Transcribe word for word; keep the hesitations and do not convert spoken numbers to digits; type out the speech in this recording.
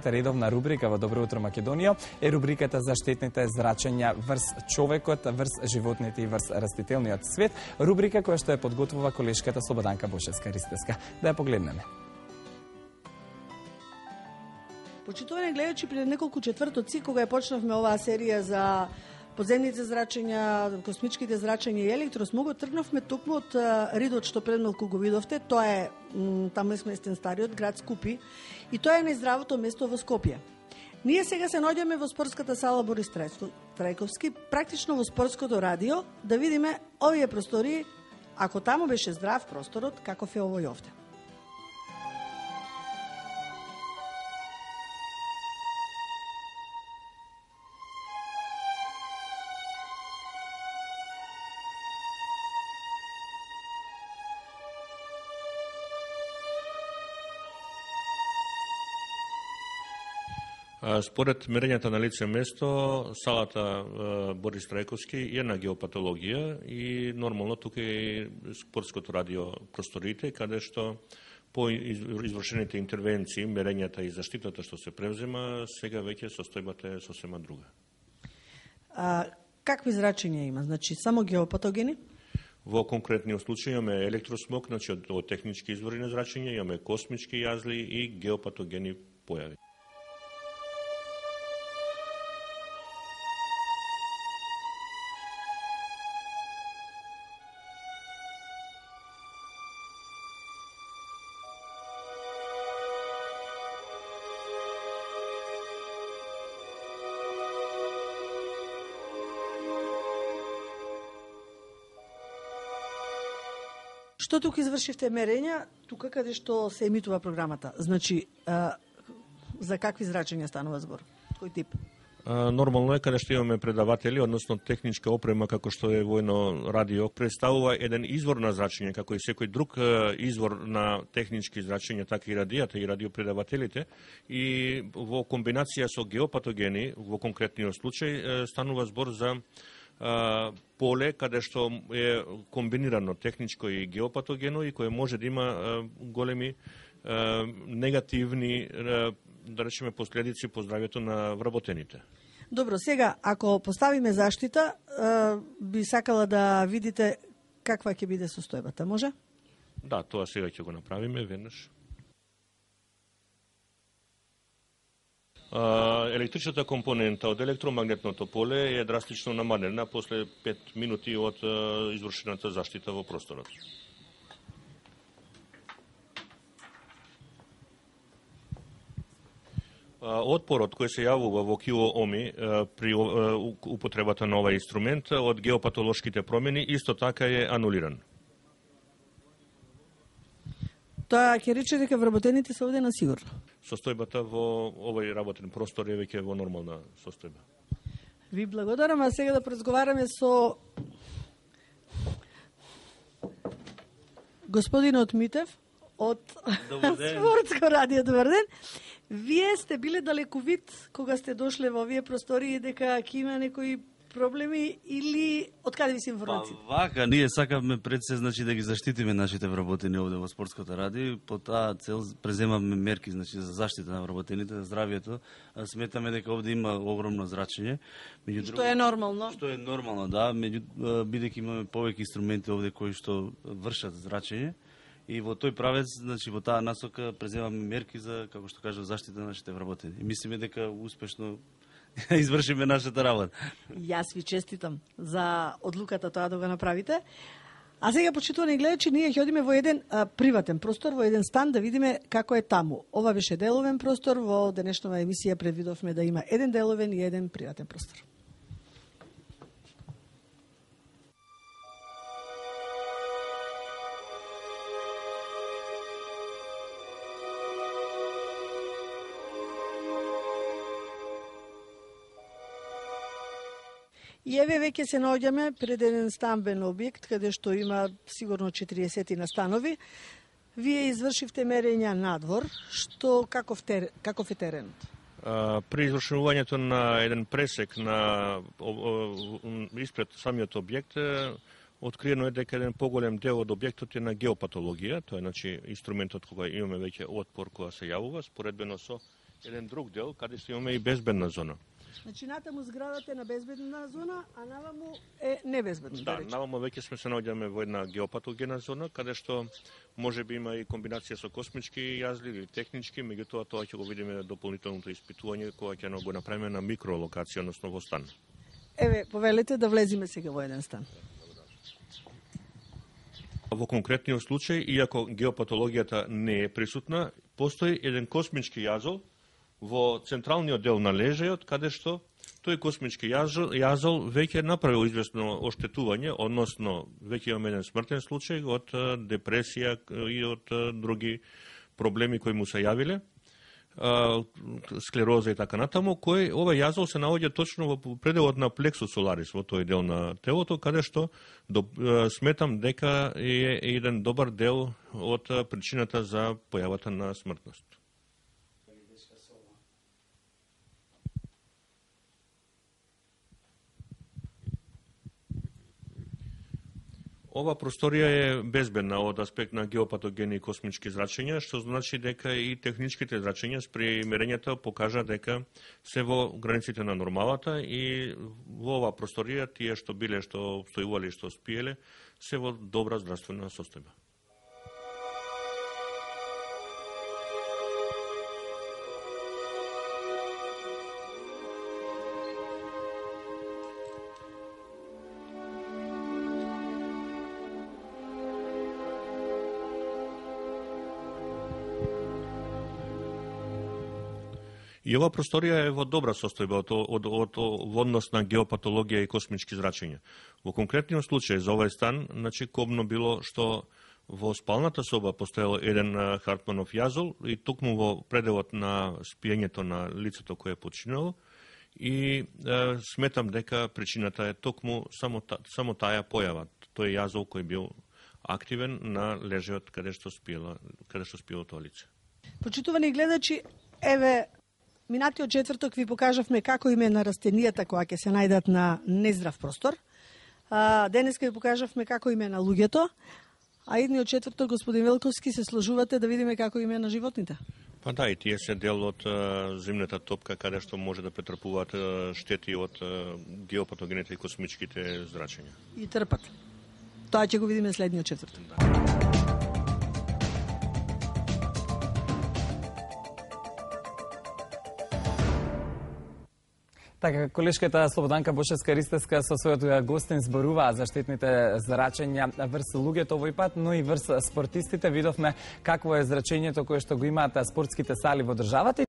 Редовна рубрика во Добро утро Македонија е рубриката за штетните зрачења врз човекот, врз животните и врз растителниот свет. Рубрика која што е подготвува колешката Слободанка Бошевска-Ристевска. Да ја погледнеме. Почитувани гледачи, пред неколку четвртоци, кога ја почнавме оваа серија за подземните зрачења, космичките зрачења и електросмогот, тргнавме токму од ридот што пред малку го видовте. Тоа е таму е сместен стариот град Скупи и тоа е најздравото место во Скопје. Ние сега се наоѓаме во спортската сала Борис Трајковски, практично во спортското радио, да видиме овие простори, ако таму беше здрав просторот, каков е овој овде. Според мерењата на лице место, салата Борис Трајковски е на геопатологија и нормално тука е спортското радио просториите, каде што по извршените интервенции, мерењата и заштитата што се превзема, сега веќе состојбата е сосема друга. А, какви зрачења има? Значи, само геопатогени? Во конкретниот случај имаме електросмог, значи од, од технички извори на зрачење, имаме космички јазли и геопатогени појави. Што тука извршивте мерења, тука каде што се емитува програмата? Значи, а, за какви зрачења станува збор? Кој тип? А, нормално е каде што имаме предаватели, односно техничка опрема како што е војно радио, представува еден извор на зрачење, како и секој друг извор на технички зрачења, така и радијата и радиопредавателите, и во комбинација со геопатогени, во конкретниот случај, станува збор за поле каде што е комбинирано техничко и геопатогено и кое може да има големи негативни, да речеме, последици по здравјето на вработените. Добро, сега, ако поставиме заштита, би сакала да видите каква ќе биде состојбата, може? Да, тоа сега ќе го направиме веднаш. Електричната компонента од електромагнетното поле е драстично намалена после пет минути од извршената заштита во просторот. Отпорот кој се јавува во килооми при употребата на овај инструмент од геопатолошките промени исто така е анулиран. Тоа ќе рече дека вработените се овде на сигурно. Состојбата во овој работен простор е веќе во нормална состојба. Ви благодарам, а сега да поразговараме со господинот Митев од Спортско радио. Добар ден. Вие сте биле далековит кога сте дошле во овие простори дека ќе има некои проблеми или од каде ви се информациите? Па вака, ние сакавме пред се, значи, да ги заштитиме нашите вработени овде во Спортското радио. По таа цел преземавме мерки, значи, за заштита на вработените, за здравието. Сметаме дека овде има огромно зрачење. Меѓу што друго, е нормално? Што е нормално, да. Меѓу, бидејќи имаме повеќе инструменти овде кои што вршат зрачење. И во тој правец, значи, во таа насока преземавме мерки за, како што кажа, заштита на нашите вработени. И мислиме дека успешно извршиме нашата работа. Јас ви честитам за одлуката тоа да го направите. А сега, почитувани гледачи, ние ќе одиме во еден а, приватен простор, во еден стан, да видиме како е таму. Ова беше деловен простор, во денешнава емисија предвидовме да има еден деловен и еден приватен простор. И еве веќе се наоѓаме пред еден стамбен објект, каде што има сигурно четириесет настанови. Вие извршивте мерења надвор, што каков, тер, каков е теренот? При извршувањето на еден пресек на испред самиот објект, откриено е дека еден поголем дел од објектот е на геопатологија, тоа е, значи, инструментот кога имаме веќе отпор која се јавува, споредбено со еден друг дел каде што имаме и безбедна зона. Значи, натаму зградата е на безбедна зона, а наваму е небезбедна. Да, наваму веќе сме се наоѓаме во една геопатогена зона, каде што може би има и комбинација со космички јазли или технички, меѓутоа тоа ќе го видиме дополнителното испитување кога ќе го направиме на микролокација, односно во стан. Еве, повелете да влезиме сега во еден стан. Во конкретниот случај, иако геопатологијата не е присутна, постои еден космички јазол во централниот дел на лежајот, каде што тој космички јазол, јазол веќе направил известно оштетување, односно веќе имаме еден смртен случај од депресија и од други проблеми кои му се јавиле, склероза и така натаму, кој ова јазол се наоѓа точно во пределот на плексус соларис, во тој дел на телото, каде што до, сметам дека е еден добар дел од причината за појавата на смртност. Ова просторија е безбедна од аспект на геопатогени и космички зрачења, што значи дека и техничките зрачења спре мерењата покажа дека се во границите на нормалата и во ова просторија тие што биле, што обстојувале и што спиеле, се во добра здравствена состојба. И ова просторија е во добра состојба од, од, од, од однос на геопатологија и космички зрачења. Во конкретниот случај за овој стан, значи кобно било што во спалната соба постоел еден Хартманов јазол и токму во пределот на спиењето на лицето кое е починало и е, сметам дека причината е токму само, та, само таа појава. Тој јазол кој бил активен на лежајот каде што спиела, каде што спиело тоа лице. Почитувани гледачи, еве минатиот четврток ви покажавме како име на растенијата која ќе се најдат на нездрав простор. А, денеска ви покажавме како име на луѓето, а идниот четврток, господин Велковски, се сложувате да видиме како име на животните. Па да, и тие се дел од а, земната топка, каде што може да претрпуваат а, штети од а, геопатогените и космичките зрачења. И трпат. Тоа ќе го видиме следниот четврток. Да. Така, колешката Слободанка Бошевска-Ристевска со својот гостин зборуваа за штетните зрачења врз луѓето овој пат, но и врз спортистите. Видовме какво е зрачењето кое што го имаат спортските сали во државата.